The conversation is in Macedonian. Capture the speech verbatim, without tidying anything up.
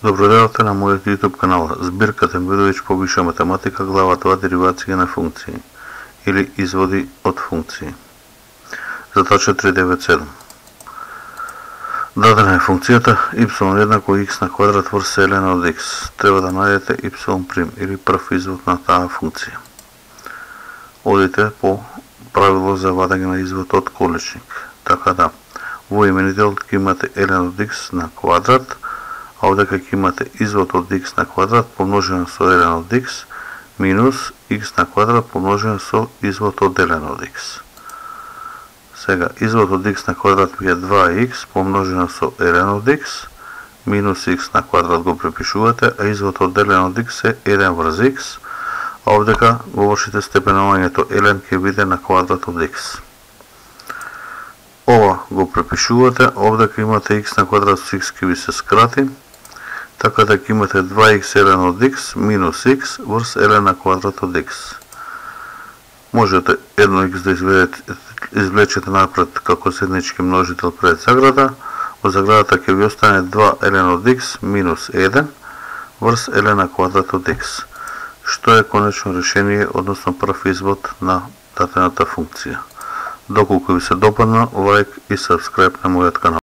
Добродојавте на мојот YouTube канал, збирка Тембидовиќ повиша математика, глава два деривација на функции или изводи од функции. Задача три девет седум. Дадена е функцијата y еднакво x на квадрат врз лн од x. Треба да најдете y прим или прв извод на таа функција. Одите по правило за вадење на извод од количник. Така да, во именителот ќе имате ln од x на квадрат, а овдека ќе имате извод од x на квадрат помножено со ln од x минус x на квадрат помножено со извод од ln од x. Сега, извод од x на квадрат ми е два х помножено со ln од x минус x на квадрат го препишувате, а извод од ln од x е еден врз x, а овдека го вршите степенувањето ln ќе биде на квадрат од x. Ова го препишувате, овдека имате x на квадрат со x ќе ви се скрати, така да ќе имате два х ln од x минус x врз ln на квадрат од x. Можете едно х да извлечете, извлечете напред како седнички множител пред заграда, во заградата ќе ви остане два ln од x минус еден врз ln на квадрат од x, што е конечно решение, односно прв извод на дадената функција. Доколку ви се допадна, лайк и сабскрајб на мојот канал.